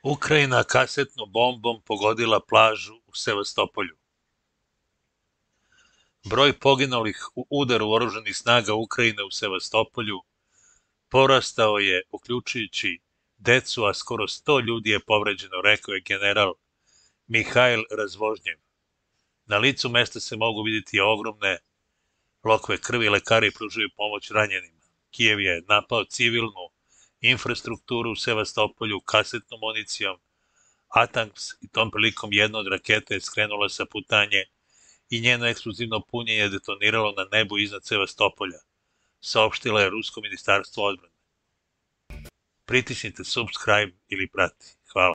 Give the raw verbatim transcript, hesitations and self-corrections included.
Ukrajina kasetnom bombom pogodila plažu u Sevastopolju. Broj poginulih u udaru oružanih snaga Ukrajine u Sevastopolju porastao je, uključujući decu, a skoro sto ljudi je povređeno, rekao je general Mihajl Razvožnjev. Na licu mesta se mogu vidjeti ogromne lokve krvi, lekari pružaju pomoć ranjenima. Kijev je napao civilnu infrastrukturu u Sevastopolju kasetnom municijom, Atanks, i tom prilikom jedna od raketa je skrenula sa putanje i njeno eksplozivno punjenje je detoniralo na nebu iznad Sevastopolja, saopštila je Rusko ministarstvo odbrane. Pritisnite subscribe ili prati.